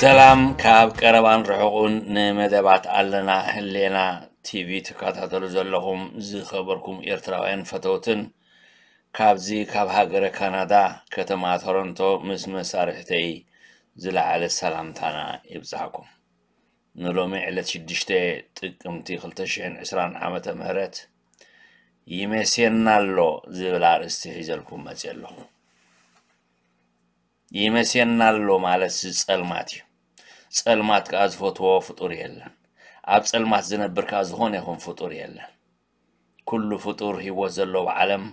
ሰላም ካብ ቀረባን ርሑቕን ንመደባት ኣለና ህሌና ቲቪ ትከታተሉ ዘለኹም ዝኸበርኩም ኤርትራውያን ፈተውትን፣ ካብዚ ካብ ሃገረ ካናዳ ከተማ ቶሮንቶ ምስ መሳርሕተይ ዝለዓለ ሰላምታና ይብጻሕኩም። ንሎሚ ዕለት ሽዱሽተ ጥቅምቲ ክልተ ሽሕን ዕስራን ዓመተ ምህረት ይመሴና ኣሎ ዝብል ኣርእስቲ ሒዘልኩም መጽየ ኣለኹ። ይመሴና ኣሎ ማለት ጸልማት እዩ። ጸልማት ከኣ ዝፈትዎ ፍጡር የለን። ኣብ ጸልማት ዝነብር ከኣ ዝኾነ ይኹን ፍጡር የለን። ኩሉ ፍጡር ህይወት ዘለዎ ዓለም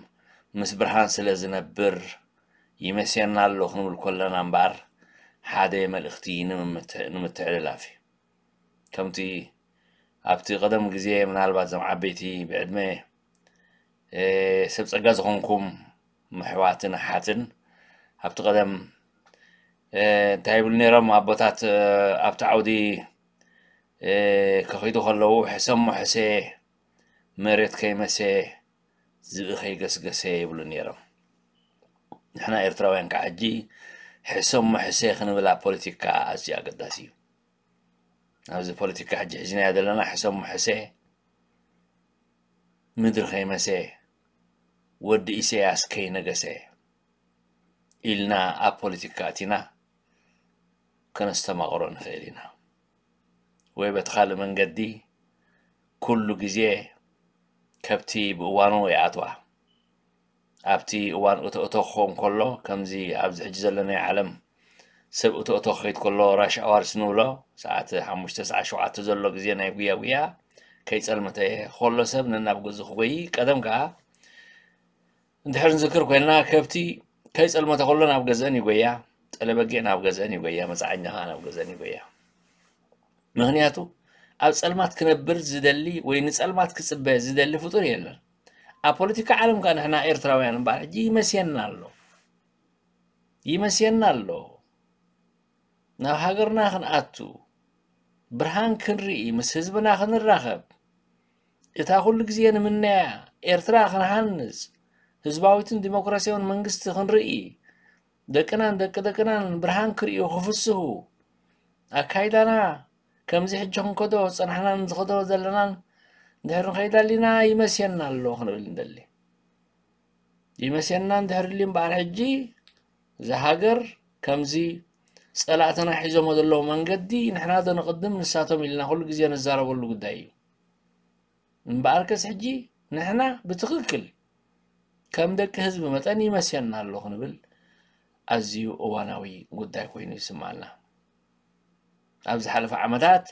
ምስ ብርሃን ስለ ዝነብር ይመሴና ኣሎ ክንብል ከለና እምበኣር ሓደ መልእኽቲ ንምምት-፣ ንምትሕልላፍ እዩ። ከምቲ ኣብቲ ቀደም ግዜ ምናልባት እዞም ዓበይቲ ብዕድመ፣ እ፣ ሰብ ጸጋ ዝኾንኩም ኣሕዋትን ኣሓትን ኣብቲ ቀደም፣ እ፣ እንታይ ይብሉ ነይሮም ኣቦታት፣ እ፣ ኣብቲ ዓውዲ፣ እ፣ ክኸይዱ ከለዉ ሕሰሞ ሕሰ፣ መሬት ከይመሰ፣ ዝብኢ ከይገስገሰ ይብሉ ነይሮም። ንሕና ኤርትራውያን ከዓ ሕጂ ሕሰሞ ሕሰ ክንብል ኣብ ፖለቲካ ኣዝዩ ኣገዳሲ እዩ። ኣብዚ ፖለቲካ ሕጂ ሒዝናዮ ዘለና ሕሰሞ ሕሰ፣ ምድሪ ከይመሰ፣ ወዲ ኢሰያስ ከይነገሰ ኢልና ኣብ ፖለቲካ ኣቲና ከነስተማቕሮ ንኽእል ኢና። ወይ በቲ ካልእ መንገዲ ኩሉ ግዜ ከብቲ ብእዋኑ ይኣትዋ። ኣብቲ እዋን እቶ እቶ ክኸውን ከሎ፣ ከምዚ ኣብዚ ሕጂ ዘለናዮ ዓለም ሰብ እቶ እቶ ክኸይድ ከሎ፣ ራሽ ኣዋርስ ንብሎ፣ ሰዓት ሓሙሽተ ሰዓት ሸውዓተ ዘሎ ግዜ ናይ ጉያ ጉያ፣ ከይጸልመተ ከሎ ሰብ ነናብ ገዝኡ ክጎይ፣ ቀደም ከኣ እንድሕር ንዝክር ኮይንና፣ ከብቲ ከይጸልመተ ከሎ ናብ ገዝአን ይጎያ፣ ጠለበጊዕ ናብ ገዝአን ይጎያ፣ መጽዓኛ ከኣ ናብ ገዝአን ይጎያ። ምኽንያቱ ኣብ ጸልማት ክነብር ዝደሊ ወይ ንጸልማት ክጽበ ዝደሊ ፍጡር የለን። ኣብ ፖለቲካ ዓለም ከኣ ንሕና ኤርትራውያን እምበኣር ሕጂ ይመስየና ኣሎ። ይመስየና ኣሎ። ናብ ሃገርና ክንኣቱ፣ ብርሃን ክንርኢ፣ ምስ ህዝብና ክንራኸብ፣ እታ ኩሉ ግዜ ንምነያ ኤርትራ ክንሃንጽ፣ ህዝባዊትን ዲሞክራሲያውን መንግስቲ ክንርኢ፣ ደቅናን ደቂ ደቅናን ብርሃን ክርእዩ ክፍስሁ፣ ኣካይዳና ከምዚ ሕጂ ክንከዶ ዝጸናሕናን ዝኸዶ ዘለናን እንድሕር ንኸይድ ኣሊና ይመስየና ኣሎ ክንብል ንደሊ። ይመስየና እንድሕር ኢሉ እምበኣር ሕጂ እዛ ሃገር ከምዚ ጸላእትና ሒዞሞ ዘለዉ መንገዲ ንሕና ዶ ንቕድም ንሳቶም ኢልና ኩሉ ግዜ ንዛረበሉ ጉዳይ እዩ። እምበኣርከስ ሕጂ ንሕና ብትኽክል ከም ደቂ ህዝቢ መጠን ይመስየና ኣሎ ክንብል ኣዝዩ እዋናዊ ጉዳይ ኮይኑ ይስምዓና። ኣብ ዝሓለፈ ዓመታት፣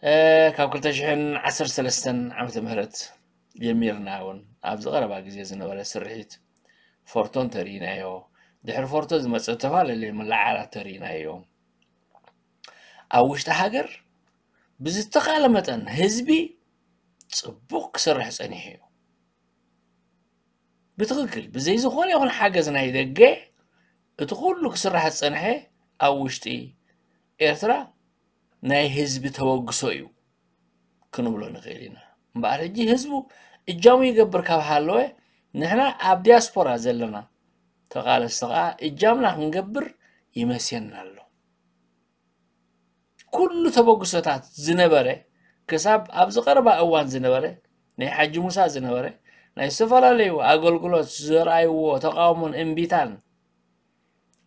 እ፣ ካብ ክልተ ሽሕን ዓሰርተ ሰለስተን ዓመተ ምህረት ጀሚርና እውን ኣብዚ ቀረባ ግዜ ዝነበረ ስርሒት ፎርቶ እንተርኢናዮ፣ ድሕሪ ፎርቶ ዝመጸ ዝተፈላለዩ መለዓዓላት ተርኢናዮ። ኣብ ውሽጢ ሃገር ብዝተኻለ መጠን ህዝቢ ጽቡቕ ክሰርሕ ጸኒሑ እዩ። ብትኽክል ብዘይ ዝኾነ ይኹን ሓገዝ ናይ ደገ እቲ ኩሉ ክስራሕ ዝጸንሐ ኣብ ውሽጢ ኤርትራ ናይ ህዝቢ ተበግሶ እዩ ክንብሎ ንኽእል ኢና። እምበኣር ሕጂ ህዝቡ እጃሙ ይገብር ካብ ሃለወ፣ ንሕና ኣብ ዲያስፖራ ዘለና ተቓለስቲ ከኣ እጃምና ክንገብር ይመስየና ኣሎ። ኩሉ ተበግሶታት ዝነበረ፣ ክሳብ ኣብዚ ቀረባ እዋን ዝነበረ፣ ናይ ሓጂ ሙሳ ዝነበረ፣ ናይ ዝተፈላለዩ ኣገልግሎት ዘርኣይዎ ተቃውሞን እምቢታን፣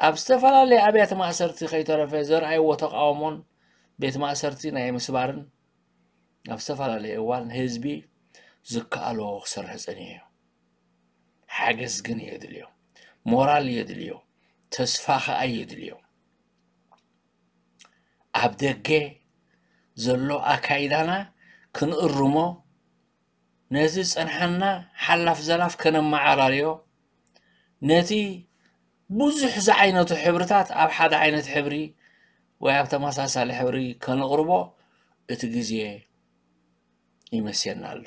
ኣብ ዝተፈላለየ ኣብያተ ማእሰርቲ ከይተረፈ ዘርኣይዎ ተቃውሞን ቤት ማእሰርቲ ናይ ምስባርን፣ ኣብ ዝተፈላለየ እዋን ህዝቢ ዝከኣሎ ክሰርሕ ጸኒሑ እዩ። ሓገዝ ግን የድልዮ፣ ሞራል የድልዮ፣ ተስፋ ከኣ የድልዮ። ኣብ ደገ ዘሎ ኣካይዳና ክንእርሞ፣ ነቲ ዝጸንሓና ሓላፍ ዘላፍ ከነመዓራርዮ፣ ነቲ ብዙሕ ዝዓይነቱ ሕብርታት ኣብ ሓደ ዓይነት ሕብሪ ወይ ኣብ ተመሳሳሊ ሕብሪ ከነቕርቦ እቲ ግዜ ይመስየና ኣሎ።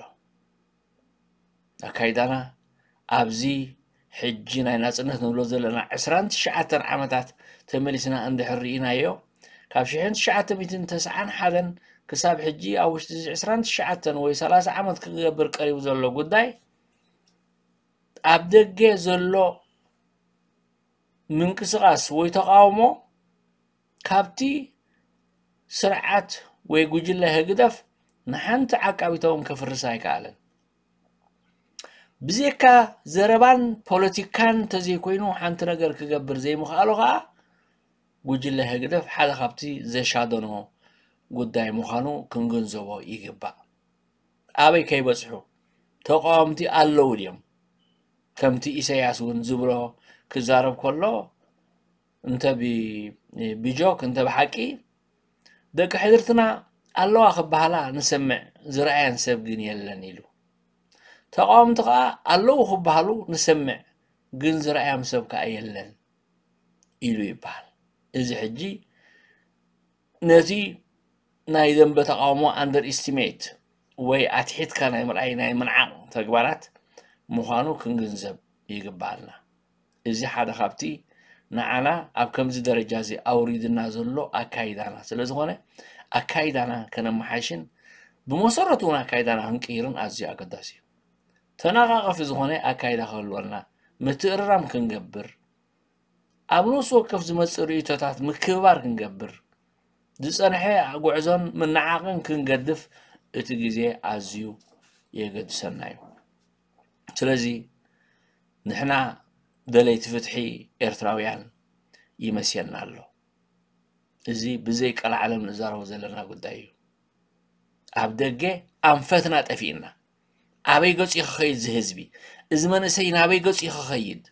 ኣካይዳና ኣብዚ ሕጂ ናይ ናጽነት ንብሎ ዘለና ዕስራን ትሽዓተን ዓመታት ተመሊስና እንድሕር ርኢናዮ፣ ካብ ሽሕን ትሽዓተ ሚእትን ተስዓን ሓደን ክሳብ ሕጂ ኣብ ውሽጢ እዚ ዕስራን ትሽዓተን ወይ ሰላሳ ዓመት ክገብር ቀሪቡ ዘሎ ጉዳይ፣ ኣብ ደገ ዘሎ ምንቅስቓስ ወይ ተቃውሞ ካብቲ ስርዓት ወይ ጉጅለ ህግደፍ ንሓንቲ ዓቃቢት እውን ከፍርስ ኣይከኣለን። ብዘይካ ዘረባን ፖለቲካን እንተዘይኮይኑ ሓንቲ ነገር ክገብር ዘይምኽኣሉ ኸኣ ጉጅለ ህግደፍ ሓደ ካብቲ ዘሻደኖ ጉዳይ ምዃኑ ክንግንዘቦ ይግባእ። ኣበይ ከይበጽሑ ተቃወምቲ ኣለዉ ድዮም? ከምቲ ኢሳያስ እውን ዝብሎ ክዛረብ ከሎ እንተ ብ- ብጆክ እንተ ብሓቂ ደቂ ሕድርትና ኣለዋ ክበሃላ ንሰምዕ፣ ዝረኣየን ሰብ ግን የለን ኢሉ። ተቃወምቲ ከኣ ኣለዉ ክበሃሉ ንሰምዕ፣ ግን ዝረኣዮም ሰብ ከኣ የለን ኢሉ ይበሃል። እዚ ሕጂ ነቲ ናይ ደንበ ተቃውሞ under estimate ወይ ኣትሒትካ ናይ ምርኣይ ናይ ምንዓቕ ተግባራት ምዃኑ ክንግንዘብ ይግበኣና። እዚ ሓደ ካብቲ ንዓና ኣብ ከምዚ ደረጃ እዚ ኣውሪድና ዘሎ ኣካይዳና ስለ ዝኾነ ኣካይዳና ከነመሓይሽን ብመሰረቱ እውን ኣካይዳና ክንቅይርን ኣዝዩ ኣገዳሲ እዩ። ተነቓቐፊ ዝኾነ ኣካይዳ ክህልወና ምትእርራም ክንገብር ኣብ ነፍሲ ወከፍ ዝመጽእ ርእይቶታት ምክብባር ክንገብር ዝጸንሐ ጉዕዞን ምንዓቕን ክንገድፍ እቲ ግዜ ኣዝዩ የገድሰና እዩ። ስለዚ ንሕና ደለይቲ ፍትሒ ኤርትራውያን ይመስየና ኣሎ። እዚ ብዘይ ቀልዓለም ንዛረቦ ዘለና ጉዳይ እዩ። ኣብ ደገ ኣንፈትና ጠፊእና ኣበይ ገጹ ክኸይድ እዚ ህዝቢ? እዚ መንእሰይ ናበይ ገጹ ክኸይድ?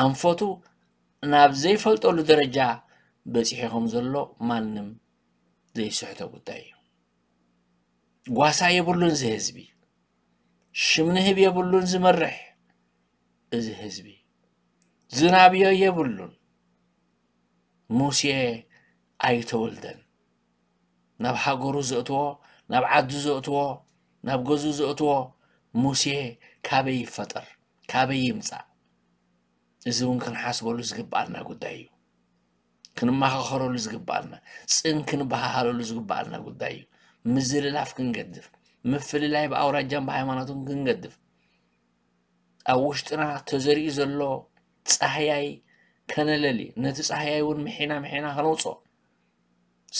ኣንፈቱ ናብ ዘይፈልጠሉ ደረጃ በጺሑ ከም ዘሎ ማንም ዘይስሕቶ ጉዳይ እዩ። ጓሳ የብሉን እዚ ህዝቢ። ሽም ንህብ የብሉን ዝመርሕ እዚ ህዝቢ። ዝናብዮ የብሉን። ሙሴ ኣይተወልደን። ናብ ሃገሩ ዘእትዎ፣ ናብ ዓዱ ዘእትዎ፣ ናብ ገዝኡ ዘእትዎ ሙሴ ካበይ ይፈጠር? ካበይ ይምጻእ? እዚ እውን ክንሓስበሉ ዝግብኣና ጉዳይ እዩ። ክንመኻኸረሉ ዝግብኣና፣ ጽን ክንበሃሃለሉ ዝግብኣና ጉዳይ እዩ። ምዝልላፍ ክንገድፍ፣ ምፍልላይ ብኣውራጃን ብሃይማኖትን ክንገድፍ፣ ኣብ ውሽጥና ተዘሪኡ ዘሎ ጻህያይ ከነለሊ፣ ነቲ ጻህያይ እውን ምሒና ምሒና ከነውጽኦ፣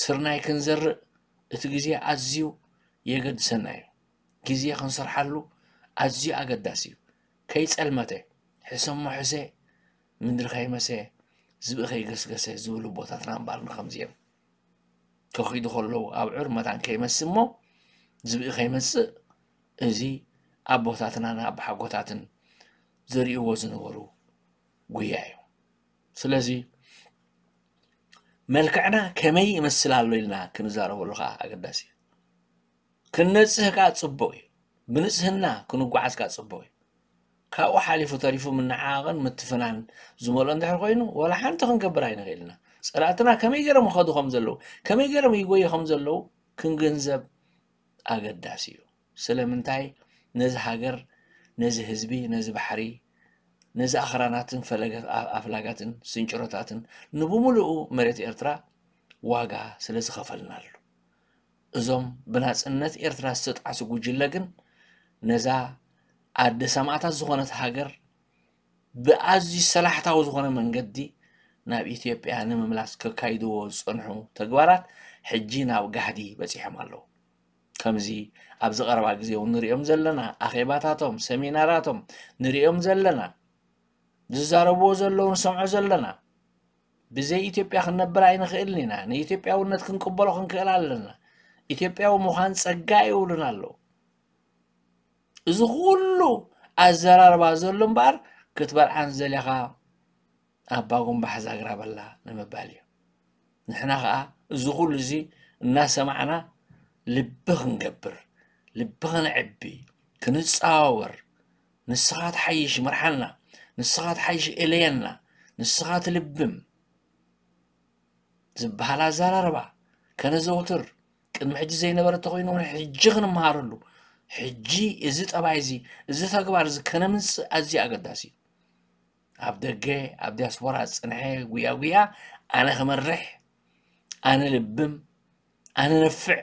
ስርናይ ክንዘርእ እቲ ግዜ ኣዝዩ የገድሰና እዩ። ግዜ ክንሰርሓሉ ኣዝዩ ኣገዳሲ እዩ። ከይጸልመተ፣ ሕሰሞ ሕሰ፣ ምድሪ ከይመሰ፣ ዝብኢ ከይገስገሰ ዝብሉ ኣቦታትና እምበኣር ንኸምዚ እዮም። ከኺዱ ከለዉ ኣብዑር መታን ከይመስ እሞ ዝብኢ ከይመጽእ፣ እዚ ኣቦታትናን ኣቦሓጎታትን ዘርእይዎ ዝነበሩ ጉያ እዩ። ስለዚ መልክዕና ከመይ ይመስል ኣሎ ኢልና ክንዛረበሉ ከኣ ኣገዳሲ እዩ። ክንነጽህ ከኣ ጽቡቕ እዩ። ብንጽህና ክንጓዓዝ ከኣ ጽቡቕ እዩ። ካብኡ ሓሊፉ ተሪፉ ምንዓቕን ምትፍናን ዝመልኦ እንድሕር ኮይኑ፣ ወላ ሓንቲ ክንገብር ኣይንኽእል ኢና። ጸላእትና ከመይ ገይሮም ይኸዱ ከም ዘለዉ፣ ከመይ ገይሮም ይጎዩ ከም ዘለዉ ክንግንዘብ ኣገዳሲ እዩ። ስለምንታይ ነዚ ሃገር፣ ነዚ ህዝቢ፣ ነዚ ባሕሪ፣ ነዚ ኣኽራናትን ፈለገ-፣ ኣ-፣ ኣፍላጋትን ስንጭሮታትን ንብምሉኡ መሬት ኤርትራ ዋጋ ስለ ዝኸፈልናሉ። እዞም ብናጽነት ኤርትራ ዝተጣዕሱ ጉጅለ ግን ነዛ ኣደ ሰማእታት ዝኾነት ሃገር ብኣዝዩ ሰላሕታዊ ዝኾነ መንገዲ ናብ ኢትዮጵያ ንምምላስ ከካይድዎ ዝጸንሑ ተግባራት ሕጂ ናብ ጋህዲ በጺሖም ኣለዉ። ከምዚ ኣብዚ ቀረባ ግዜ እውን ንሪኦም ዘለና ኣኼባታቶም፣ ሰሚናራቶም ንሪኦም ዘለና፣ ዝዛረብዎ ዘለዉ ንሰምዖ ዘለና። ብዘይ ኢትዮጵያ ክንነብር ኣይንኽእልን ኢና። ንኢትዮጵያውነት ክንቅበሎ ክንክእል ኣለና። ኢትዮጵያዊ ምዃን ጸጋ ይብሉና ኣለዉ። እዚ ኩሉ ኣዘራርባ ዘሎ እምበኣር ክትበልዓን ዘሊኻ ኣባ ጉምባሕ ዛግራ በላ ንምባል እዩ። ንሕና ኸኣ እዚ ኩሉ እዚ እናሰማዕና ልቢ ክንገብር፣ ልቢ ከነዕቢ፣ ክንጸዋወር፣ ንስኻ ትሓይሽ ምርሓና፣ ንስኻ ትሓይሽ እለየና፣ ንስኻ ትልብም ዝበሃል ኣዘራርባ ከነዘውትር፣ ቅድሚ ሕጂ ዘይነበረ እንተኾይኑ እውን ሕጂ ክንመሃረሉ፣ ሕጂ እዚ ጠባይ እዚ፣ እዚ ተግባር እዚ ከነምጽእ ኣዝዩ ኣገዳሲ እዩ። ኣብ ደገ፣ ኣብ ዲያስፖራ ዝጸንሐ ጉያ ጉያ፣ ኣነ ክመርሕ፣ ኣነ ልብም፣ ኣነ ነፍዕ፣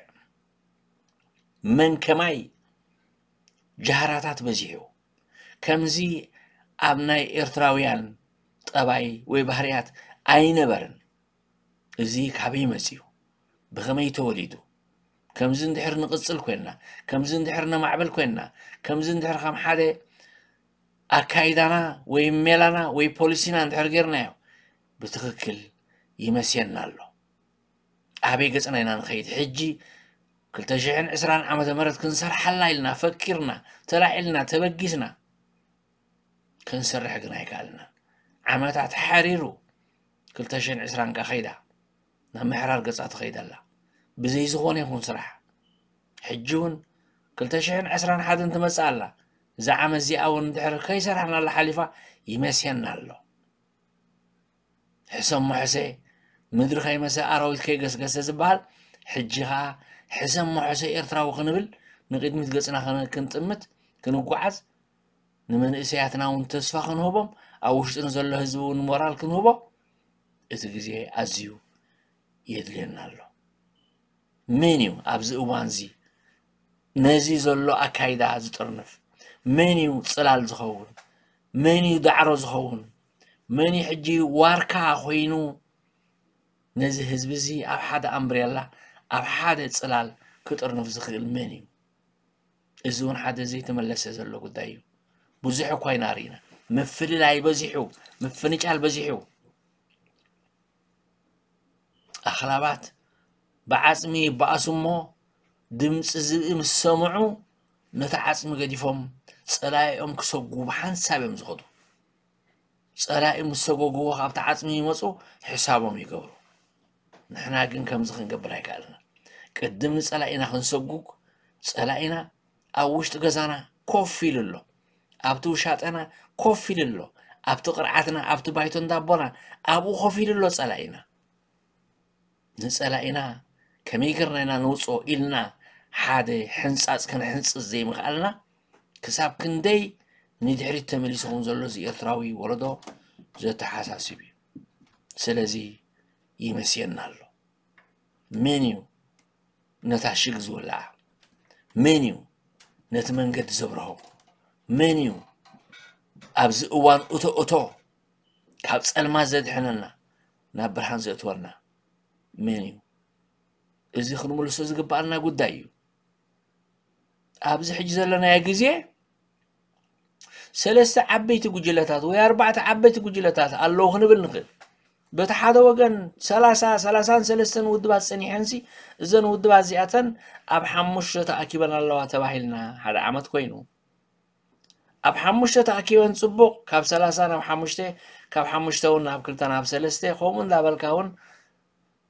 መን ከማይ ጃህራታት በዚሑ። ከምዚ ኣብ ናይ ኤርትራውያን ጠባይ ወይ ባህርያት ኣይነበረን። እዚ ካበይ መጺኡ? ብኸመይ ተወሊዱ? ከምዚ እንድሕር ንቕጽል ኮይንና፣ ከምዚ እንድሕር ነማዕብል ኮይንና፣ ከምዚ እንድሕር ከም ሓደ ኣካይዳና ወይ ሜላና ወይ ፖሊሲና እንድሕር ጌርናዮ፣ ብትኽክል ይመስየና ኣሎ። ኣበይ ገጽና ኢና ንኸይድ? ሕጂ ክልተ ሽሕን ዕስራን ዓመተ ምህረት ክንሰርሓላ ኢልና ፈኪርና፣ ተላዒልና፣ ተበጊስና፣ ክንሰርሕ ግን ኣይከኣልናን። ዓመታት ሓሪሩ፣ ክልተ ሽሕን ዕስራን ከ ከይዳ፣ ናብ ምሕራር ገጻ ትኸይድ ኣላ። ብዘይ ዝኾነ ይኹን ስራሕ። ሕጂ እውን ክልተ ሽሕን ዕስራን ሓደን ትመጽእ ኣላ። እዛ ዓመት እዚኣ እውን እንድሕር ከይሰራሕናላ ሓሊፋ ይመስየና ኣሎ። ሕሰሞ ሕሰ፣ ምድሪ ከይመሰ ኣራዊት ከይገስገሰ ዝበሃል፣ ሕጂ ኸኣ ሕሰሞ ሕሰ ኤርትራዊ ክንብል፣ ንቕድሚት ገጽና ከነ-፣ ክንጥምት፣ ክንጓዓዝ፣ ንመንእሰያትና እውን ተስፋ ክንህቦም፣ ኣብ ውሽጢ ንዘሎ ህዝቢ እውን ሞራል ክንህቦ፣ እቲ ግዜ ኣዝዩ የድልየና ኣሎ። መን እዩ ኣብዚ እዋንዚ ነዚ ዘሎ ኣካይዳ ዝጥርንፍ? መን እዩ ጽላል ዝኸውን? መን እዩ ዳዕሮ ዝኸውን? መን እዩ ሕጂ ዋርካ ኮይኑ ነዚ ህዝቢ እዚ ኣብ ሓደ ኣምብሬላ፣ ኣብ ሓደ ጽላል ክጥርንፍ ዝኽእል መን እዩ? እዚ እውን ሓደ ዘይተመለሰ ዘሎ ጉዳይ እዩ። ብዙሕ እኳ ኢና ርኢና። ምፍልላይ በዚሑ፣ ምፍንጫል በዚሑ። ኣኽላባት ብዓጽሚ ይበኣሱ እሞ፣ ድምጺ ዝብኢ ምስ ሰምዑ፣ ነቲ ዓጽሚ ገዲፎም ጸላኢኦም ክሰጉ ብሓንሳብ እዮም ዝኸዱ። ጸላኢ ምስ ሰጎግዎ ካብቲ ዓጽሚ ይመጹ፣ ሕሳቦም ይገብሩ። ንሕና ግን ከምዚ ክንገብር ኣይከኣልናን። ቅድም ንጸላኢና ክንሰጉግ፣ ጸላኢና ኣብ ውሽጢ ገዛና ኮፍ ኢሉ ኣሎ። ኣብቲ ውሻጠና ኮፍ ኢሉ ኣሎ። ኣብቲ ቅርዓትና፣ ኣብቲ ባይቶ እንዳቦና፣ ኣብኡ ኮፍ ኢሉ ኣሎ ጸላኢና። ንጸላኢና ከመይ ጌርና ኢና ነውጽኦ ኢልና ሓደ ሕንጻጽ ክንሕንጽጽ ዘይምኽኣልና፣ ክሳብ ክንደይ ንድሕሪት ተመሊሱ ከም ዘሎ እዚ ኤርትራዊ ወለዶ ዘተሓሳስብ እዩ። ስለዚ ይመስየና ኣሎ። መን እዩ ነታ ሽግ ዝወልዓ? መን እዩ ነቲ መንገዲ ዘብርሆ? መን እዩ ኣብዚ እዋን እቶ እቶ ካብ ጸልማት ዘድሕነና፣ ናብ ብርሃን ዘእትወና መን እዩ? እዚ ክንምልሶ ዝግብኣና ጉዳይ እዩ። ኣብዚ ሕጂ ዘለናዮ ግዜ ሰለስተ ዓበይቲ ጉጅለታት ወይ ኣርባዕተ ዓበይቲ ጉጅለታት ኣለዉ ክንብል ንኽእል። በቲ ሓደ ወገን ሰላሳ፣ ሰላሳን ሰለስተን ውድባት ጸኒሐንሲ፣ እዘን ውድባት እዚኣተን ኣብ ሓሙሽተ ተኣኪበን ኣለዋ ተባሂልና ሓደ ዓመት ኮይኑ። ኣብ ሓሙሽተ ተኣኪበን ጽቡቕ፣ ካብ ሰላሳ ናብ ሓሙሽተ፣ ካብ ሓሙሽተ እውን ናብ ክልተ ናብ ሰለስተ፣ ከምኡ እንዳበልካ እውን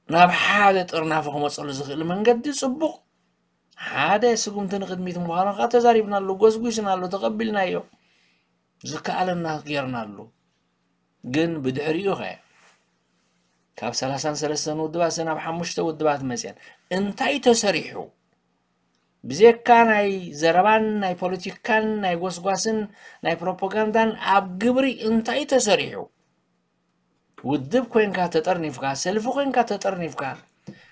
ናብ ሓደ ጥርናፈ ክመጸሉ ዝኽእል መንገዲ ጽቡቕ። ሓደ ስጉምቲ ንቕድሚት ምዃኑ ከኣ ተዛሪብናሉ፣ ጎስጒስናሉ፣ ተቐቢልናዮ። ዝከኣለና ጌርናሉ። ግን ብድሕሪኡ ኸ ካብ ሰላሳን ሰለስተን ውድባት ናብ ሓሙሽተ ውድባት መጽየን እንታይ ተሰሪሑ? ብዘካ ናይ ዘረባን ናይ ፖለቲካን ናይ ጎስጓስን ናይ ፕሮፓጋንዳን ኣብ ግብሪ እንታይ ተሰሪሑ? ውድብ ኮንካ ተጠርኒፍካ፣ ሰልፊ ኮንካ ተጠርኒፍካ፣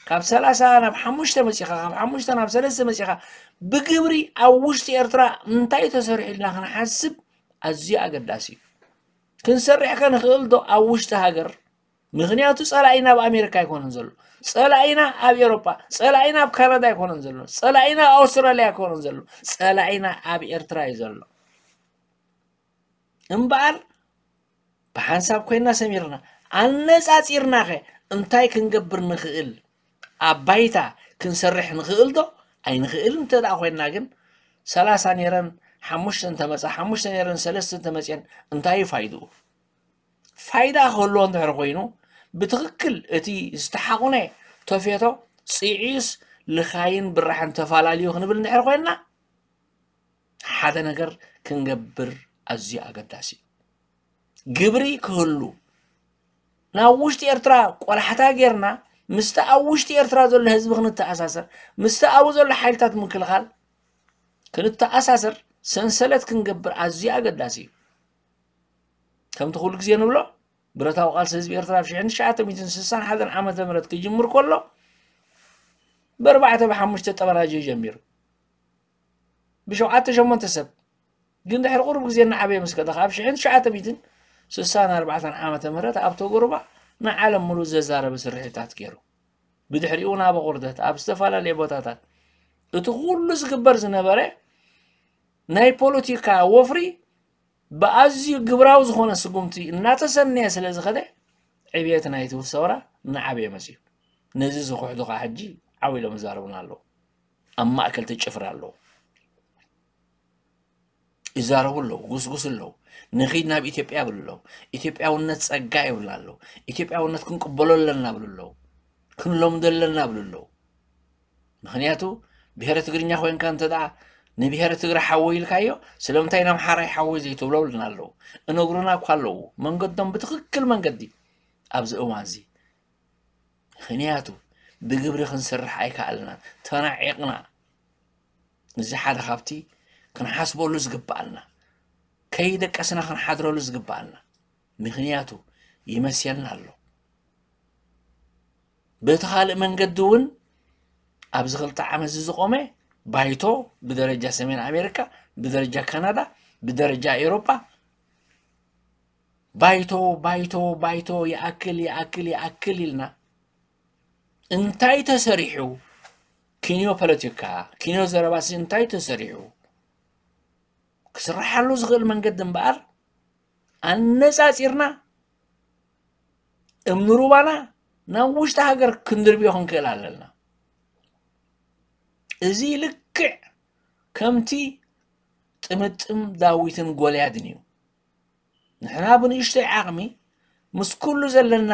ካብ ሰላሳ ናብ ሓሙሽተ መጺኻ፣ ካብ ሓሙሽተ ናብ ሰለስተ መጺኻ፣ ብግብሪ ኣብ ውሽጢ ኤርትራ እንታይ ተሰሪሑ ኢልና ክንሓስብ ኣዝዩ ኣገዳሲ እዩ። ክንሰርሕ ከ ንኽእል ዶ ኣብ ውሽጢ ሃገር? ምኽንያቱ ጸላኢና ኣብ ኣሜሪካ ኣይኮነን ዘሎ፣ ጸላኢና ኣብ ኤውሮጳ፣ ጸላኢና ኣብ ካናዳ ኣይኮነን ዘሎ፣ ጸላኢና ኣብ ኣውስትራልያ ኣይኮነን ዘሎ፣ ጸላኢና ኣብ ኤርትራ እዩ ዘሎ። እምበኣር ብሓንሳብ ኮይና ሰሚርና፣ ኣነጻጺርናኸ እንታይ ክንገብር ንኽእል? ኣብ ባይታ ክንሰርሕ ንኽእል ዶ? ኣይንኽእል እንተ ደኣ ኮይንና ግን፣ ሰላሳ ነይረን ሓሙሽተ እንተመጻ፣ ሓሙሽተ ነይረን ሰለስተ እንተመጽየን እንታይ እዩ ፋይድኡ? ፋይዳ ክህልዎ እንድሕር ኮይኑ፣ ብትኽክል እቲ ዝተሓቑነ ተፌቶ ጽዒዩስ ልኻይን ብራሕን ተፋላልዩ ክንብል እንድሕር ኮይንና፣ ሓደ ነገር ክንገብር ኣዝዩ ኣገዳሲ እዩ። ግብሪ ክህሉ፣ ናብ ውሽጢ ኤርትራ ቆላሕታ ጌርና፣ ምስቲ ኣብ ውሽጢ ኤርትራ ዘሎ ህዝቢ ክንተኣሳሰር፣ ምስቲ ኣብኡ ዘሎ ሓይልታት ምክልኻል ክንተኣሳሰር፣ ሰንሰለት ክንገብር ኣዝዩ ኣገዳሲ እዩ። ከምቲ ኩሉ ግዜ ንብሎ፣ ብረታዊ ቃልሲ ህዝቢ ኤርትራ ኣብ ሽሕን ትሽዓተ ሚእትን ስሳን ሓደን ዓመተ ምህረት ክጅምር ከሎ፣ ብኣርባዕተ ብሓሙሽተ ጠበናጀ ጀሚሩ። ብሸውዓተ ሸሞንተ ሰብ። ግን ድሕሪ ቁሩብ ግዜ እናዓበየ ምስ ከደ፣ ካብ ሽሕን ትሽዓተ ሚእትን ስሳን ኣርባዕተን ዓመተ ምህረት ኣብ ተጎሩባ ንዓለም ሙሉእ ዘዛረበ ስርሒታት ገይሩ። ብድሕሪኡ ናብ ኣቑርደት ኣብ ዝተፈላለየ ቦታታት እቲ ኩሉ ዝግበር ዝነበረ ናይ ፖለቲካ ወፍሪ ብኣዝዩ ግብራዊ ዝኾነ ስጉምቲ እናተሰነየ ስለ ዝኸደ ዕብየት ናይቲ ሰውራ እናዓበየ መፅዩ። ነዚ ዝኽሕዱ ከዓ ሕጂ ዓው ኢሎም ይዛረቡና ኣለዉ። ኣብ ማእከል እቲ ጭፍራ ኣለዉ። ይዛረቡ ኣለዉ፣ ጉስጉስ ኣለዉ። ንኺድ ናብ ኢትዮጵያ ይብሉ ኣለዉ። ኢትዮጵያውነት ጸጋ ይብሉ ኣለዉ። ኢትዮጵያውነት ክንቅበሎ ኣለና ይብሉ ኣለዉ። ክንለምዶ ኣለና ይብሉ ኣለዉ። ምኽንያቱ ብሄረ ትግርኛ ኮይንካ እንተ ደኣ ንብሄረ ትግረ ሓወይ ኢልካዮ፣ ስለምንታይ ንኣምሓራይ ሓወይ ዘይትብሎ ይብሉና ኣለዉ። እነግሩና እኳ ኣለዉ፣ መንገዶም ብትኽክል መንገዲ ኣብዚ እዋንዚ። ምኽንያቱ ብግብሪ ክንሰርሕ ኣይከኣልናን፣ ተናዒቕና። እዚ ሓደ ካብቲ ክንሓስበሉ ዝግብኣና፣ ከይደቀስና ክንሓድረሉ ዝግብኣና። ምኽንያቱ ይመስየልና ኣሎ። በቲ ካልእ መንገዲ እውን ኣብዚ ክልተ ዓመት እዚ ዝቆመ ባይቶ ብደረጃ ሰሜን ኣሜሪካ፣ ብደረጃ ካናዳ፣ ብደረጃ ኤውሮጳ ባይቶ፣ ባይቶ፣ ባይቶ፣ ይኣክል፣ ይኣክል፣ ይኣክል ኢልና እንታይ ተሰሪሑ? ኪንዮ ፖለቲካ፣ ኪንዮ ዘረባሲ እንታይ ተሰሪሑ? ክስርሓሉ ዝኽእል መንገዲ እምበኣር ኣነጻጺርና እምኒ ሩባና ናብ ውሽጢ ሃገር ክንድርብዮ ክንክእል ኣለና። እዚ ልክዕ ከምቲ ጥምጥም ዳዊትን ጎልያድን እዩ። ንሕና ብንእሽተይ ዓቕሚ ምስ ኩሉ ዘለና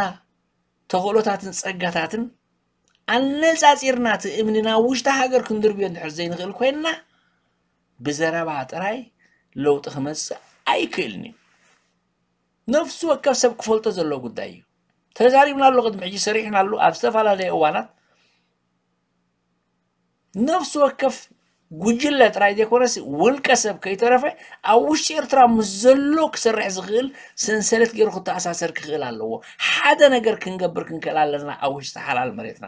ተኽእሎታትን ጸጋታትን ኣነጻጺርና እቲ እምኒ ናብ ውሽጢ ሃገር ክንድርብዮ እንድሕር ዘይንኽእል ኮይንና ብዘረባ ጥራይ ለውጢ ክመጽእ ኣይክእልን እዩ። ነፍሲ ወከፍ ሰብ ክፈልጦ ዘለዎ ጉዳይ እዩ። ተዛሪብናሉ፣ ቅድሚ ሕጂ ሰሪሕናሉ ኣብ ዝተፈላለየ እዋናት። ነፍሲ ወከፍ ጉጅለ ጥራይ ዘይኮነስ ውልቀ ሰብ ከይተረፈ ኣብ ውሽጢ ኤርትራ ምስ ዘሎ ክሰርሕ ዝኽእል ሰንሰለት ገይሩ ክተኣሳሰር ክኽእል ኣለዎ። ሓደ ነገር ክንገብር ክንክእል ኣለና ኣብ ውሽጢ ሓላል መሬትና።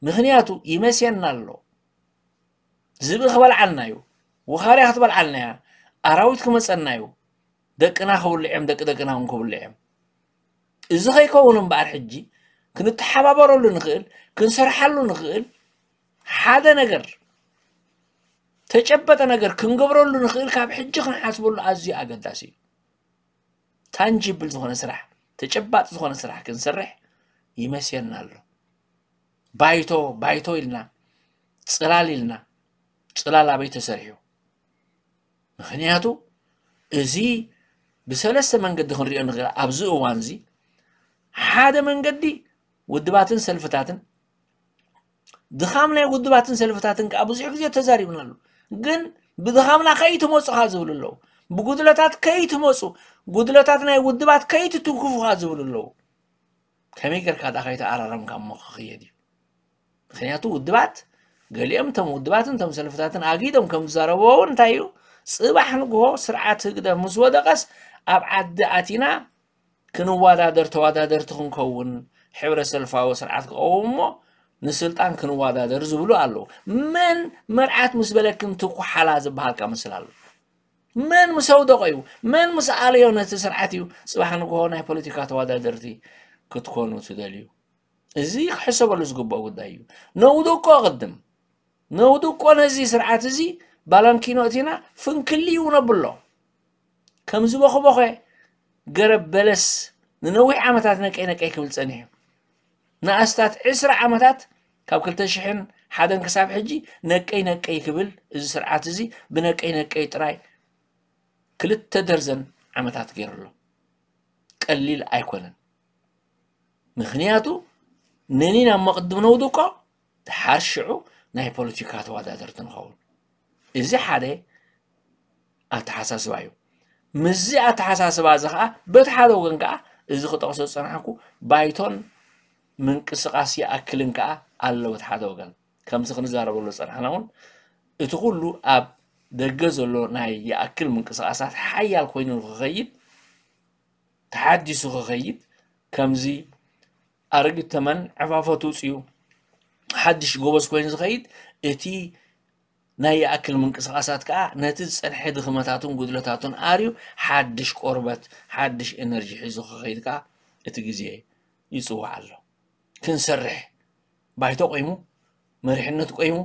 ምኽንያቱ ይመስየና ኣሎ። ዝብኢ ክበልዓና እዩ፣ ውኻርያ ክትበልዓና እያ፣ ኣራዊት ክመፀና እዩ። ደቅና ክብልዕ እዮም፣ ደቂ ደቅና እውን ክብልዕ እዮም። እዚ ከይከውን እምበኣር ሕጂ ክንተሓባበረሉ ንኽእል፣ ክንሰርሓሉ ንኽእል፣ ሓደ ነገር ተጨበጠ ነገር ክንገብረሉ ንኽእል ካብ ሕጂ ክንሓስበሉ ኣዝዩ ኣገዳሲ እዩ። ታንጂብል ዝኾነ ስራሕ፣ ተጨባጢ ዝኾነ ስራሕ ክንሰርሕ ይመስየና ኣሎ። ባይቶ ባይቶ ኢልና፣ ጽላል ኢልና፣ ጽላል ኣበይ ተሰሪሑ? ምኽንያቱ እዚ ብሰለስተ መንገዲ ክንሪኦ ንኽእል። ኣብዚ እዋን እዚ ሓደ መንገዲ ውድባትን ሰልፍታትን፣ ድኻም ናይ ውድባትን ሰልፍታትን ከዓ ብዙሕ ግዜ ተዛሪብናሉ። ግን ብድኻምና ከይትመፁ ኻ ዝብሉ ኣለዉ። ብጉድለታት ከይትመፁ፣ ጉድለታት ናይ ውድባት ከይትትንክፉ ኻ ዝብሉ ኣለዉ። ከመይ ጌርካ ደኣ ከይተኣራረምካ እሞ ክኽየድ እዩ? ምኽንያቱ ውድባት፣ ገሊኦም እቶም ውድባትን እቶም ሰልፍታትን ኣጊዶም ከም ዝዛረብዎ እውን እንታይ እዩ? ጽባሕ ንግሆ ስርዓት ህግደፍ ምስ ወደቐስ ኣብ ዓዲ ኣቲና ክንወዳደር ተወዳደርቲ ክንከውን፣ ሕብረ ሰልፋዊ ስርዓት ክቐውም እሞ ንስልጣን ክንወዳደር ዝብሉ ኣለዉ። መን መርዓት ምስ በለክን ትኩሓላ ዝበሃልካ ምስል ኣሎ? መን ምስ ኣውደቐ እዩ? መን ምስ ኣለዮ ነቲ ስርዓት እዩ ጽባሕ ንግሆ ናይ ፖለቲካ ተወዳደርቲ ክትኮኑ ትደልዩ? እዚ ክሕሰበሉ ዝግብኦ ጉዳይ እዩ። ነውድቆ ቅድም፣ ነውድቆ ነዚ ስርዓት እዚ ባላንኪኖ እቲና ፍንክልዩ ነብሎ። ከም ዝበኾበኾ ገረብ በለስ ንነዊሕ ዓመታት ነቀይ ነቀይ ክብል ጸኒሑ። ንኣስታት ዕስራ ዓመታት ካብ ክልተ ሽሕን ሓደን ክሳብ ሕጂ ነቀይ ነቀይ ክብል እዚ ስርዓት እዚ ብነቀይ ነቀይ ጥራይ ክልተ ደርዘን ዓመታት ገይሩ ኣሎ። ቀሊል ኣይኮነን። ምኽንያቱ ነኒና እሞ ቅድም ነውድቆ፣ ደሓር ሽዑ ናይ ፖለቲካ ተወዳደርቲ ንኸውን። እዚ ሓደ ኣተሓሳስባ እዩ። ምስዚ ኣተሓሳስባ እዚ ኸዓ በቲ ሓደ ወገን ከዓ እዚ ክጠቕሶ ዝጸናሕኩ ባይቶን ምንቅስቓስ ይኣክልን ከዓ ኣሎ በቲ ሓደ ወገን። ከምዚ ክንዛረበሉ ዝጸናሕና እውን እቲ ኩሉ ኣብ ደገ ዘሎ ናይ ይኣክል ምንቅስቓሳት ሓያል ኮይኑ ንክኸይድ፣ ተሓዲሱ ክኸይድ፣ ከምዚ ኣረጊት ተመን ዕፋፎ ትውፅዩ ሓድሽ ጎበዝ ኮይኑ ዝኸይድ፣ እቲ ናይ ይኣክል ምንቅስቓሳት ከዓ ነቲ ዝፀንሐ ድኽመታቱን ጉድለታቱን ኣርዩ ሓድሽ ቆርበት፣ ሓድሽ ኤነርጂ ሒዙ ክኸይድ ከዓ እቲ ግዜ ይጽዋዕ ኣሎ። ክንሰርሕ፣ ባይቶ ቆይሙ፣ መሪሕነት ቆይሙ፣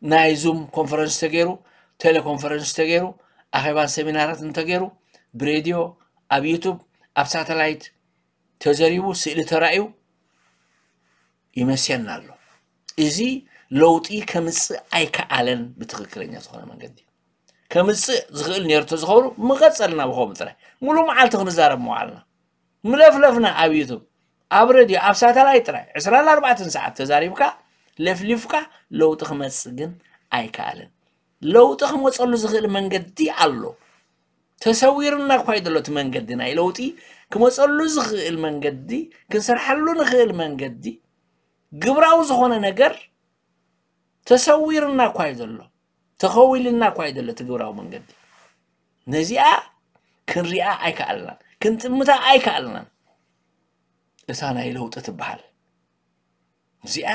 ናይ ዙም ኮንፈረንስ ተገይሩ፣ ቴሌኮንፈረንስ ተገይሩ፣ ኣኼባን ሰሚናራትን ተገይሩ፣ ብሬድዮ፣ ኣብ ዩቱብ፣ ኣብ ሳተላይት ተዘሪቡ፣ ስእሊ ተራእዩ ይመስየና ኣሎ። እዚ ለውጢ ከምጽእ ኣይከኣለን። ብትኽክለኛ ዝኾነ መንገዲ ከምጽእ ዝኽእል ነይሩ ተዝኸውን ምቐጸልና ብኸምኡ ጥራይ ሙሉእ መዓልቲ ክንዛረብ ምዋልና። ምለፍለፍና ኣብ ዩቱብ፣ ኣብ ሬድዮ፣ ኣብ ሳተላይት ጥራይ ዕስራን ኣርባዕተን ሰዓት ተዛሪብካ ለፍሊፍካ ለውጢ ክመጽእ ግን ኣይከኣልን። ለውጢ ክመጸሉ ዝኽእል መንገዲ ኣሎ። ተሰዊርና እኳ እዩ ዘሎ እቲ መንገዲ ናይ ለውጢ ክመጸሉ ዝኽእል መንገዲ፣ ክንሰርሓሉ ንኽእል መንገዲ፣ ግብራዊ ዝኾነ ነገር ተሰዊርና እኳ እዩ ዘሎ፣ ተኸዊልና እኳ እዩ ዘሎ እቲ ግብራዊ መንገዲ። ነዚኣ ክንሪኣ ኣይከኣልናን፣ ክንጥምታ ኣይከኣልናን። እታ ናይ ለውጢ ትበሃል እዚኣ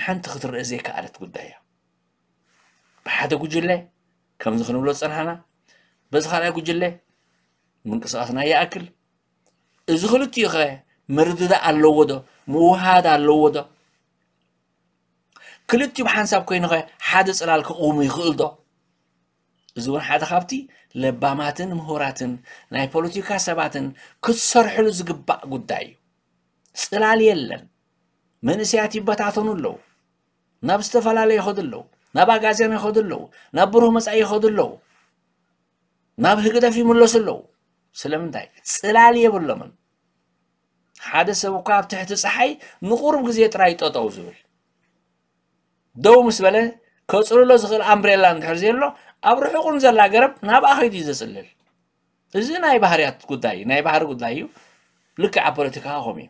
ሓንቲ ክትረአ ዘይከኣለት ጉዳይ እያ። ብሓደ ጉጅለ ከምዚ ክንብሎ ዝጸናሕና፣ በዚ ካልኣይ ጉጅለ ምንቅስቓስና ይኣክል። እዚ ክልቲኡ ኸ ምርድዳእ ኣለዎ ዶ? ምውሃድ ኣለዎ ዶ? ክልቲኡ ብሓንሳብ ኮይኑ ኸ ሓደ ጽላል ክቕውሙ ይኽእል ዶ? እዚ እውን ሓደ ካብቲ ለባማትን ምሁራትን ናይ ፖለቲካ ሰባትን ክትሰርሕሉ ዝግባእ ጉዳይ እዩ። ጽላል የለን። መንእሰያት ይበታተኑ ኣለዉ። ናብ ዝተፈላለየ ይኸዱ ኣለዉ። ናብ ኣጋዝያን ይኸዱ ኣለዉ። ናብ ብሩህ መጻኢ ይኸዱ ኣለዉ። ናብ ህግደፍ ይምለሱ ኣለዉ። ስለምንታይ? ጽላል የብሎምን። ሓደ ሰብ እኳ ኣብ ትሕቲ ጸሓይ ንቑሩብ ግዜ ጥራይ ጠጠው ዝብል፣ ደው ምስ በለ ከጽልሎ ዝኽእል ኣምብሬላ እንድሕር ዘየሎ፣ ኣብ ርሑቕ ንዘላ ገረብ ናብኣ ከይዱ እዩ ዘጽልል። እዚ ናይ ባህርያት ጉዳይ እዩ፣ ናይ ባህሪ ጉዳይ እዩ። ልክዕ ኣብ ፖለቲካ ከምኡ እዩ።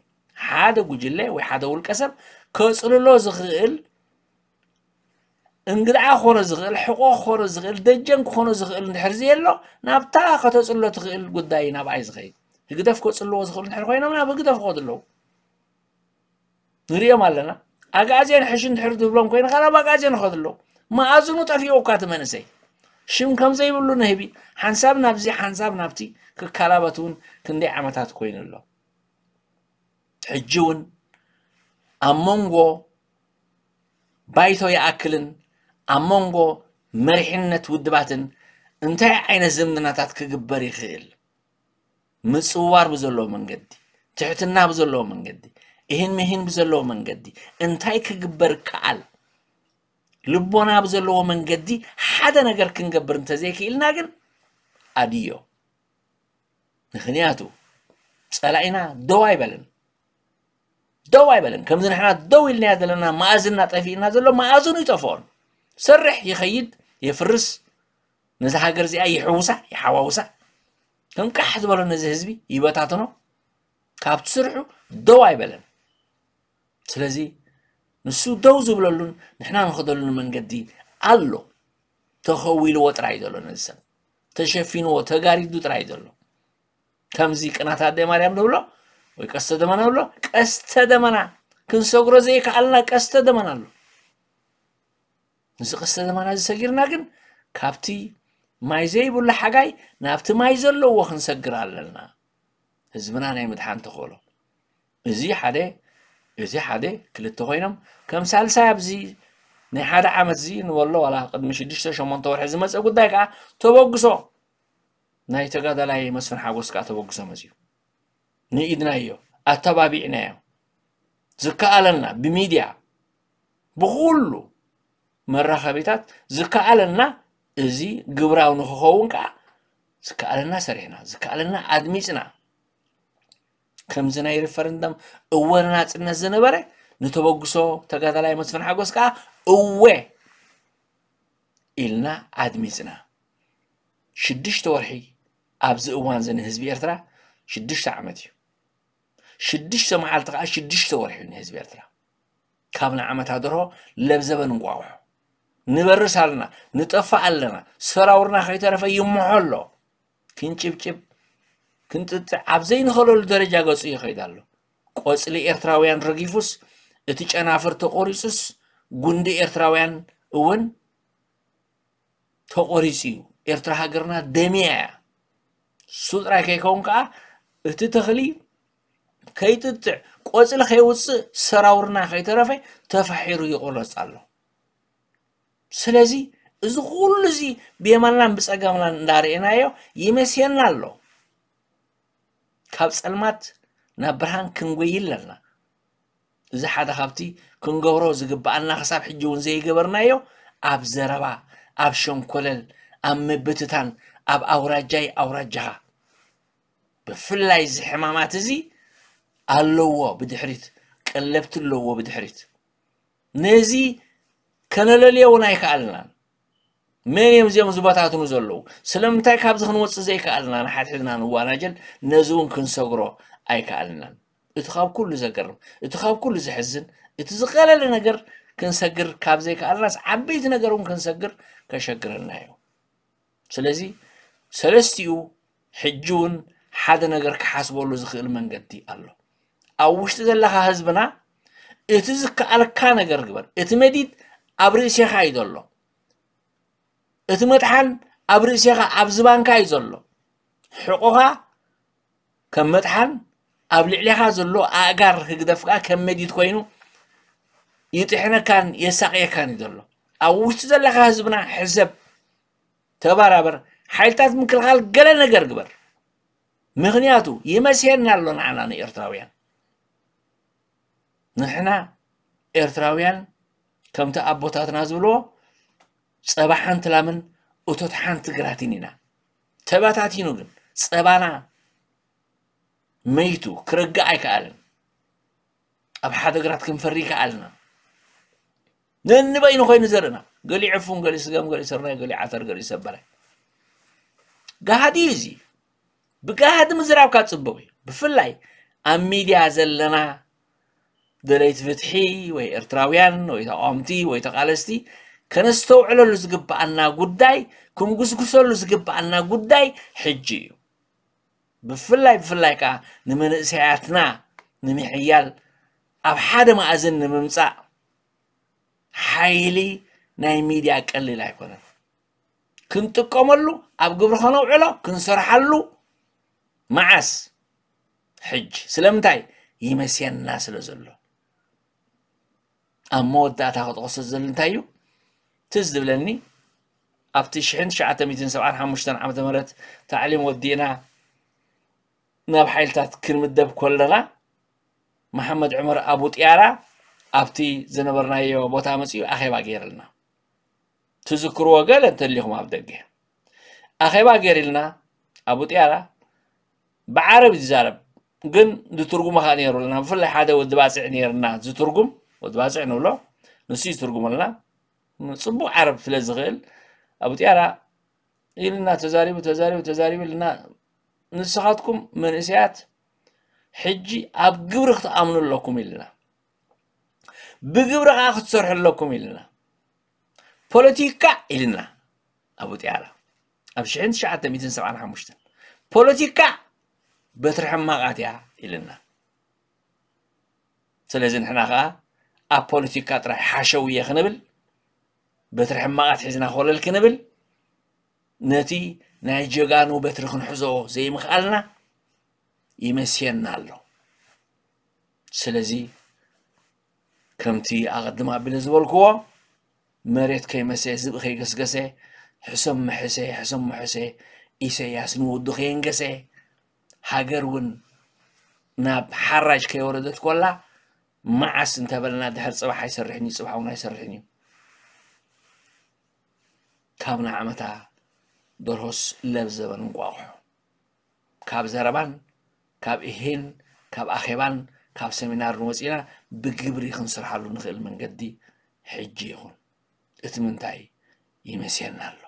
ሓደ ጉጅለ ወይ ሓደ ውልቀ ሰብ ከጽልሎ ዝኽእል እንግድዓ ክኾኖ ዝኽእል፣ ሕቖ ክኾኖ ዝኽእል፣ ደጀን ክኾኖ ዝኽእል እንድሕር ዘየሎ፣ ናብታ ከተጽሎ ትኽእል ጉዳይ ናብኣ እዩ ዝኸይድ። ህግደፍ ከጽልዎ ዝኽእሉ እንድሕር ኮይኖም ናብ ህግደፍ ክኸዱ ኣለዉ። ንሪኦም ኣለና። ኣግኣዝያን ሕሽ እንድሕር ዝብሎም ኮይኑ፣ ካብ ኣግኣዝያን ይኸዱ ኣለዉ። መኣዝኑ ጠፊኡ እኳ እቲ መንእሰይ። ሽም ከም ዘይብሉ ንህቢ፣ ሓንሳብ ናብዚ፣ ሓንሳብ ናብቲ ክከላበት እውን ክንደይ ዓመታት ኮይኑ ኣሎ። ሕጂ እውን ኣብ መንጎ ባይቶ ይኣክልን ኣብ መንጎ መሪሕነት ውድባትን እንታይ ዓይነት ዝምድናታት ክግበር ይኽእል? ምጽውዋር ብዘለዎ መንገዲ፣ ትሕትና ብዘለዎ መንገዲ፣ እሂን ምሂን ብዘለዎ መንገዲ እንታይ ክግበር ይከኣል? ልቦና ብዘለዎ መንገዲ ሓደ ነገር ክንገብር እንተዘይክኢልና ግን ኣድዮ። ምኽንያቱ ጸላኢና ደው ኣይበለን። ደው ኣይበለን። ከምዚ ንሕና ደው ኢልናዮ ዘለና መኣዝንና ጠፊእና ዘሎ መኣዝኑ ይጠፍኦን። ሰርሕ ይኸይድ፣ የፍርስ፣ ነዛ ሃገር እዚኣ ይሕውሳ፣ ይሓዋውሳ። ከም ቃሕ ዝበሎ ነዚ ህዝቢ ይበታትኖ። ካብቲ ስርሑ ደው ኣይበለን። ስለዚ ንሱ ደው ዝብለሉን ንሕና ንኸደሉን መንገዲ ኣሎ። ተኸዊልዎ ጥራይ ዘሎ ነዚ ሰብ። ተሸፊንዎ፣ ተጋሪዱ ጥራይ ዘሎ። ከምዚ ቅናት ኣደ ማርያም ንብሎ፣ ወይ ቀስተ ደመና ንብሎ፣ ቀስተ ደመና ክንሰግሮ ዘይከኣልና ቀስተ ደመና ኣሎ። እዚ ቀስተ ደመና እዚ ሰጊርና ግን ካብቲ ማይ ዘይብሉ ሓጋይ ናብቲ ማይ ዘለዎ ክንሰግር ኣለና። ህዝብና ናይ ምድሓን ተኽእሎ። እዚ ሓደ፣ እዚ ሓደ፣ ክልተ ኮይኖም፣ ከም ሳልሳይ ኣብዚ ናይ ሓደ ዓመት እዚ ንበሎ ዋላ ቅድሚ ሽዱሽተ ሸሞንተ ወርሒ ዝመጸ ጉዳይ ከኣ ተበግሶ ናይ ተጋዳላይ መስፍን ሓጎስ ከኣ ተበግሶ መጽዩ። ንኢድናዮ፣ ኣተባቢዕናዮ። ዝከኣለና ብሚድያ፣ ብኹሉ መራኸቢታት ዝከኣለና እዚ ግብራዊ ንክኸውን ከኣ ዝከኣለና ሰሪሕና፣ ዝከኣለና ኣድሚጽና። ከምዚ ናይ ሪፈረንደም እወ ንናጽነት ዝነበረ ንተበግሶ ተጋዳላይ መስፍን ሓጎስ ከኣ እወ ኢልና ኣድሚጽና። ሽዱሽተ ወርሒ ኣብዚ እዋን እዚ ንህዝቢ ኤርትራ ሽዱሽተ ዓመት እዩ። ሽዱሽተ መዓልቲ ከኣ ሽዱሽተ ወርሒ እዩ ንህዝቢ ኤርትራ። ካብ ንዓመታ ደርሆ ለብዘበን እንቋቑሖ። ንበርስ ኣለና፣ ንጠፍእ ኣለና፣ ሰራውርና ከይተረፈ ይምሖ ኣሎ። ክንጭብጭብ፣ ክንጥጥዕ ኣብ ዘይንኽእለሉ ደረጃ ገጹ ይኸይድ ኣሎ። ቆጽሊ ኤርትራውያን ረጊፉስ፣ እቲ ጨናፍር ተቖሪጹስ፣ ጉንዲ ኤርትራውያን እውን ተቖሪጹ እዩ። ኤርትራ ሃገርና ደምያ እያ። እሱ ጥራይ ከይከውን ከኣ፣ እቲ ተኽሊ ከይጥጥዕ፣ ቆፅሊ ከይውፅእ፣ ሰራውርና ከይተረፈ ተፋሒሩ ይቑረፅ ኣሎ። ስለዚ እዚ ኩሉ እዚ ብየማንናን ብፀጋምናን እንዳርኤናዮ ይመስየና ኣሎ። ካብ ፀልማት ናብ ብርሃን ክንጎይ ኣለና። እዚ ሓደ ካብቲ ክንገብሮ ዝግብኣና ክሳብ ሕጂ እውን ዘይገበርናዮ ኣብ ዘረባ፣ ኣብ ሸንኮለል፣ ኣብ ምብትታን፣ ኣብ ኣውራጃይ ኣውራጃኻ። ብፍላይ እዚ ሕማማት እዚ ኣለዎ ብድሕሪት፣ ቀለብቲ ኣለዎ ብድሕሪት። ነዚ ከነለልዮ እውን ኣይከኣልናን። መን እዮም እዚኦም ዝበታትኑ ዘለዉ? ስለምንታይ ካብዚ ክንወፅእ ዘይከኣልና ንሓድሕድና ንዋናጀል? ነዚ እውን ክንሰግሮ ኣይከኣልናን። እቲ ካብ ኩሉ ዘገርም፣ እቲ ካብ ኩሉ ዘሕዝን፣ እቲ ዝቐለለ ነገር ክንሰግር ካብ ዘይከኣልናስ ዓበይቲ ነገር እውን ክንሰግር ከሸግረና እዩ። ስለዚ ሰለስቲኡ ሕጂ እውን ሓደ ነገር ክሓስበሉ ዝኽእል መንገዲ ኣሎ። ኣብ ውሽጢ ዘለኻ ህዝብና እቲ ዝከኣልካ ነገር ግበር። እቲ መዲድ ኣብ ርእሴኻ እዩ ዘሎ። እቲ መጥሓን ኣብ ርእሴኻ ኣብ ዝባንካ እዩ ዘሎ። ሕቆኻ ከም መጥሓን ኣብ ልዕሌኻ ዘሎ ኣእጋር ህግደፍ ከኣ ከም መዲድ ኮይኑ ይጥሕነካን የሳቕየካን እዩ ዘሎ። ኣብ ውሽጢ ዘለኻ ህዝብና ሕሰብ፣ ተባራበር፣ ሓይልታት ምክልኻል ገለ ነገር ግበር። ምኽንያቱ ይመስየና ኣሎ ንዓና ንኤርትራውያን። ንሕና ኤርትራውያን ከምቲ ኣቦታትና ዝብልዎ ጸባ ሓንቲ ላምን እቶት ሓንቲ ግራትን ኢና። ተበታቲኑ ግን ጸባና መይቱ ክርጋእ ኣይከኣልን። ኣብ ሓደ ግራት ክንፈሪ ይከኣልና። ነንበይኑ ኮይኑ ዘርእና፣ ገሊኡ ዕፉን፣ ገሊኡ ስገም፣ ገሊኡ ስርናይ፣ ገሊኡ ዓተር፣ ገሊኡ ሰበረ። ጋህዲ እዩ እዚ። ብጋህዲ ምዝራብካ ጽቡቕ እዩ። ብፍላይ ኣብ ሚድያ ዘለና ደለይቲ ፍትሒ ወይ ኤርትራውያን ወይ ተቃወምቲ ወይ ተቃለስቲ ከነስተውዕለሉ ዝግብኣና ጉዳይ፣ ክንጉስጉሰሉ ዝግብኣና ጉዳይ ሕጂ እዩ። ብፍላይ ብፍላይ ከኣ ንመንእሰያትና ንምሕያል ኣብ ሓደ መኣዝን ንምምጻእ ሓይሊ ናይ ሚድያ ቀሊል ኣይኮነን። ክንጥቀመሉ፣ ኣብ ግብሪ ከነውዕሎ፣ ክንሰርሓሉ። መዓስ? ሕጂ። ስለምንታይ? ይመስየና ስለ ዘሎ። ኣብ መወዳእታ ክጠቕሶ ዝደሊ እንታይ እዩ? ትዝ ዝብለኒ ኣብቲ ሽሕን ትሽዓተ ሚእትን ሰብዓን ሓሙሽተን ዓመተ ምህረት ታዕሊም ወዲእና ናብ ሓይልታት ክንምደብ ከለና መሓመድ ዑመር ኣቡ ጥያራ ኣብቲ ዝነበርናዮ ቦታ መጺኡ ኣኼባ ገይርልና። ትዝክርዎ ገለ እንተሊኹም ኣብ ደገ ኣኼባ ገይርልና ኣቡ ጥያራ ብዓረብ እዩ ዝዛረብ፣ ግን ዝትርጉሞ ከዓ ነይሩልና። ብፍላይ ሓደ ወዲ ባፅዕ ነይርና ዝትርጉም፣ ወዲ ባፅዕ ንብሎ፣ ንሱ ይትርጉመልና። ጽቡቕ ዓረብ ስለ ዝኽእል ኣቡ ጥያራ ኢልና ተዛሪቡ፣ ተዛሪቡ፣ ተዛሪቡ ኢልና፣ ንስኻትኩም መንእሰያት ሕጂ ኣብ ግብሪ ክትኣምኑ ኣለኩም ኢልና፣ ብግብሪ ከዓ ክትሰርሑ ኣለኩም ኢልና። ፖለቲካ ኢልና ኣቡ ጥያራ ኣብ ሽሕን ትሽዓተ ሚእትን ሰብዓን ሓሙሽተን፣ ፖለቲካ በትሪ ሕማቓት እያ ኢልና። ስለዚ ንሕና ከዓ ኣብ ፖለቲካ ጥራይ ሓሸውየ ክንብል፣ በትሪ ሕማቓት ሒዝና ኮለል ክንብል፣ ነቲ ናይ ጀጋኑ በትሪ ክንሕዞ ዘይምኽኣልና ይመስየና ኣሎ። ስለዚ ከምቲ ኣቐድም ኣቢለ ዝበልክዎ፣ መሬት ከይመሰ፣ ዝብኢ ከይገስገሰ፣ ሕሰም መሐሰ፣ ሕሰም መሐሰ፣ ኢሰያስ ንወዱ ከየንገሰ፣ ሃገር እውን ናብ ሓራጅ ከይወረደት ኮላ፣ መዓስ እንተበልና፣ ድሕር ጽባሕ ኣይሰርሕን እዩ፣ ጽባሕ እውን ኣይሰርሕን እዩ። ካብ ንዓመታ ደርሆስ ለብ ዘበን እንቋቑሖ። ካብ ዘረባን፣ ካብ እሄን፣ ካብ ኣኼባን፣ ካብ ሰሚናርን ወጺና ብግብሪ ክንሰርሓሉ ንኽእል መንገዲ ሕጂ ይኹን። እቲ ምንታይ ይመስየና ኣሎ?